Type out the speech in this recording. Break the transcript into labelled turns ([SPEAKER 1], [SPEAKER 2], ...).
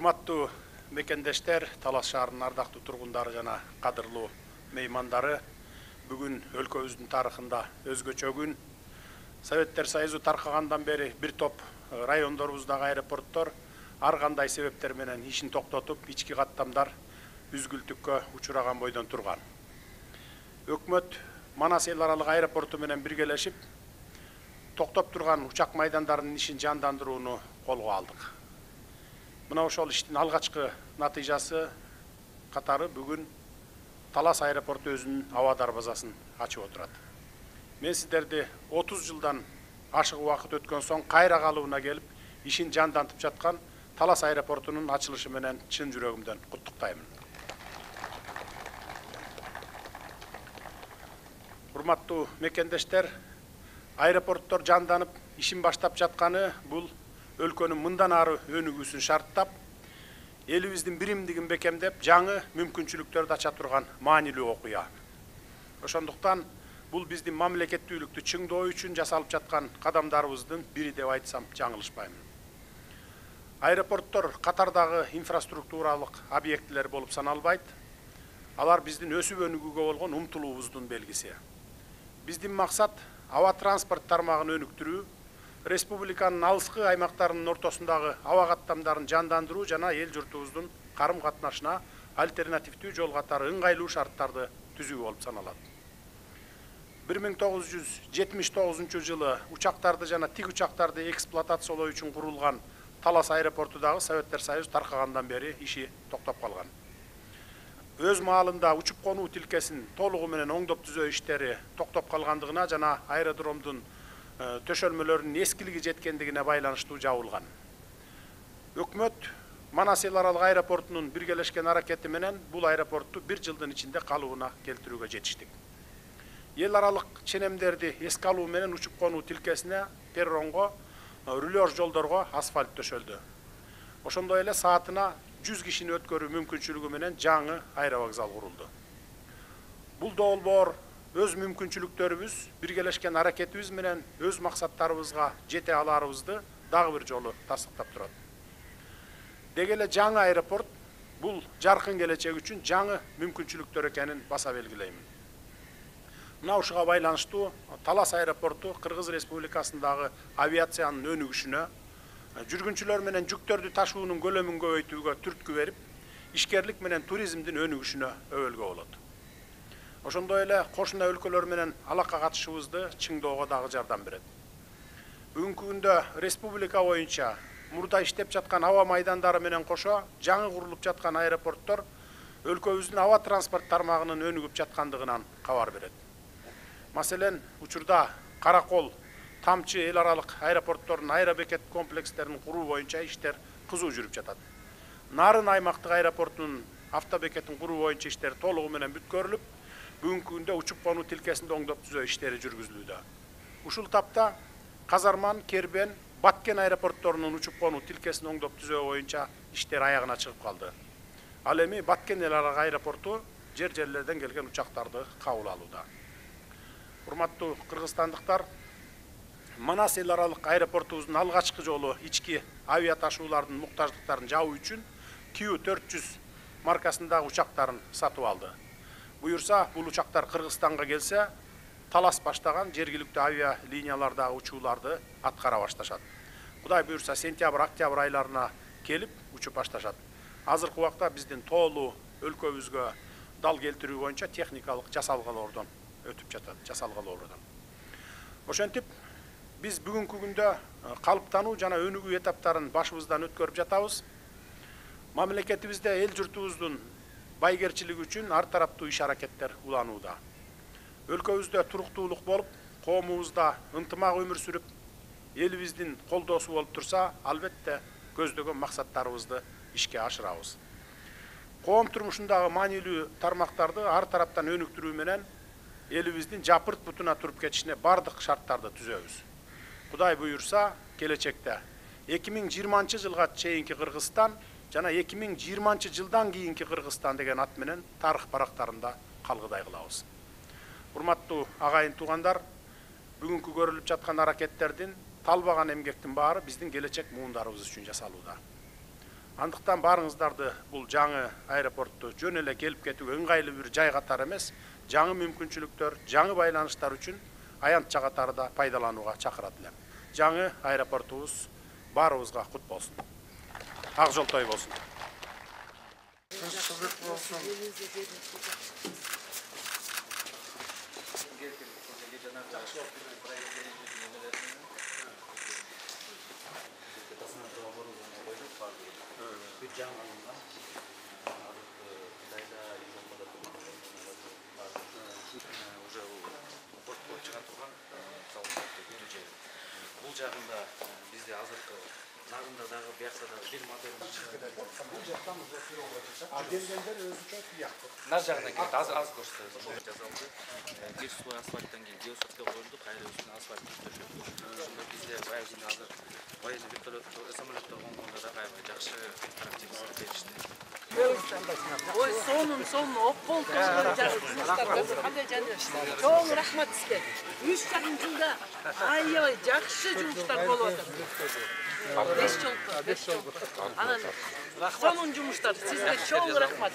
[SPEAKER 1] Урматтуу мекендештер, Талас шаарынын ардактуу тургундары жана кадырлуу меймандары, бүгүн өлкөбүздүн тарыхында өзгөчө күн. Советтер Союзу таркагандан бери бир топ райондорубуздагы аэропорттор ар кандай себептер менен ишин токтотуп, ички каттамдар үзгүлтүккө учураган бойдон турган. Өкмөт Манас эл аралык аэропорту менен биргелешип, токтоп турган учак майдандарынын ишин жандандырууну колго алдык. Мына ошол иштин алгачкы натыйжасы катары бүгүн Талас аэропорту өзүнүн аба дарбазасын ачып отурат. Мен сиздерди 30 жылдан ашык убакыт өткөн соң кайра калыбына келип, ишин жандантып жаткан Талас аэропортунун ачылышы менен чын жүрөгүмдөн куттуктаймын. Урматтуу мекендештер, аэропорттор жанданып, ишин баштап жатканы бул өлкөнүн мындан ары өнүгүүсүн шарттап, элибиздин биримдигин бекемдеп, жаңы мүмкүнчүлүктөрдү ача турган маанилүү окуя. Ошондуктан бул биздин мамлекеттүүлүктү чыңдоо үчүн жасалып жаткан кадамдарыбыздын бири деп айтсам жаңылышпаймын. Аэропорттор катардагы инфраструктуралык объектилер болуп саналбайт. Алар биздин өсүп өнүгүүгө болгон умтулуубуздун белгиси. Биздин максат аба транспорт тармагын өнүктүрүү, республиканын алыскы аймактарынын ортосундагы аба каттамдарын жандандыруу жана эл журтубуздун карым катнашына альтернативдүү жол катары ыңгайлуу шарттарды түзүү болуп саналат. 1979 жылы учактарды жана тик учактарды эксплуатациялоо үчүн курулган Талас аэропорту дагы Советтер Союзу таркагандан бери иши токтоп калган. Өз маалында учуп конуу тилкесин толугу менен оңдоп түзөө иштери токтоп калгандыгына жана аэродромдун төшөлмөлөрүнүн эскилиги жеткендигине байланыштуу жабылган. Өкмөт Манас эл аралык аэропортунун биргелешкен аракети менен бул аэропортту 1 жылдын ичинде калыбына келтирүүгө жетиштик. Эл аралык ченемдерди эске алуу менен учуп конуу тилкесине, перронго, рулеж жолдорго асфальт төшөлдү. Ошондой эле саатына 100 кишини өткөрүү мүмкүнчүлүгү менен жаңы аэровокзал курулду. Бул долбоор өз мүмкүнчүлүктөрүбүз, биргелешкен аракетибиз менен өз максаттарыбызга жете аларыбызды дагы бир жолу тастыктап турат. Деги эле жаңы аэропорт бул жаркын келечек үчүн жаңы мүмкүнчүлүктөр экенин баса белгилеймин. Мына ушуга байланыштуу Талас аэропорту Кыргыз Республикасындагы авиациянын өнүгүшүнө, жүргүнчүлөр менен жүктөрдү ташуунун көлөмүн көбөйтүүгө түрткү берип, ишкерлик менен туризмдин өнүгүшүнө өбөлгө болот. Ошондой эле кошуна өлкөлөр менен алака катышыбызды чыңдоого дагы жардам берет. Бүгүнкү күндө республика боюнча мурда иштеп жаткан аба майдандары менен кошо жаңы курулуп жаткан аэропорттор өлкөбүздүн аба транспорт тармагынын өнүгүп жаткандыгынан кабар берет. Маселен, учурда Каракол, Тамчы эл аралык аэропорттордун аэробекет комплекстерин куруу боюнча иштер кызуу жүрүп жатат. Нарын аймактык аэропортунун автобекетин куруу боюнча иштер толугу менен бүткөрүлүп, бүгүнкү күндө учуп конуу тилкесинде оңдоп түзөө иштери жүргүзүлүүдө. Ушул тапта Казарман, Кербен, Баткен аэропортторунун учуп конуу тилкесин оңдоп түзөө боюнча иштер аягына чыгып калды. Ал эми Баткен эл аралык аэропорту жерлерден келген учактарды кабыл алууда. Урматтуу кыргызстандыктар, Манас эл аралык аэропортубуздун алгачкы жолу ички авиа ташуулардын муктаждыктарын жабуу үчүн Q400 маркасындагы учактарын сатып алды. Буюрса, бул учактар Кыргызстанга келсе, Талас баштаган жергиликтүү авиа линиялардагы учууларды аткара башташат. Кудай буюрса, сентябрь-октябрь айларына келип учуп башташат. Азыркы убакта биздин тоолуу өлкөбүзгө дал келтирүү боюнча техникалык жасалгалоордон өтүп жатат, жасалгалоордон. Ошентип, биз бүгүнкү күндө калыптануу жана өнүгүү этаптарын башыбыздан өткөрүп жатабыз. Мамлекетибизде эл журтубуздун байгерчилиги үчүн ар тараптуу иш аракеттер уланууда. Өлкөбүздө туруктуулук болуп, коомубузда ынтымак өмүр сүрүп, элибиздин колдоосу болуп турса, албетте көздөгөн максаттарыбызды ишке ашырабыз. Коом турмушундагы маанилүү тармактарды ар тараптан өнүктүрүү менен элибиздин жапырт бутуна туруп кетишине бардык шарттарды түзөбүз. Кудай буюрса, келечекте 2020 жылга чейинки Кыргызстан жана 2020 жылдан кийинки Кыргызстан деген ат менен тарых барактарында калгыдай кылабыз. Урматтуу агайын туугандар, бүгүнкү көрүлүп жаткан аракеттердин, талбаган эмгектин баары биздин келечек муундарыбыз үчүн жасалууда. Андыктан баарыңыздарды бул жаңы аэропортту жөн эле келип кетүүгө ыңгайлуу бир жай катары эмес, жаңы мүмкүнчүлүктөр, жаңы байланыштар үчүн аянтча катары да пайдаланууга чакырат элем. Жаңы аэропортубуз баарыбызга кут болсун. Ак жол той болсун.
[SPEAKER 2] Бул жагында бизде азыркы нагында дагы биякта дагы бир модель чыгып
[SPEAKER 1] Бул жактан келгендер өзүчө тияктыр.
[SPEAKER 2] нар жагынан келет. Аз көрсөтөбүз. Жасалды. Бир слой асфальттан кийин геосотка коюлду, кайра үстүнө асфальт төшөдү. Ошондо бизде баягы азыр военный вертолеттор, самолеттор конгондо да аябай жакшы характеристика беришти.
[SPEAKER 3] Ой, сонун оппол жумуштар кандай жана. Чоң рахмат сизге. 3,5 жылда аябай жакшы жумуштар болуп атат. 5 жыл. Анан сонун жумуштар. Сизге чоң рахмат.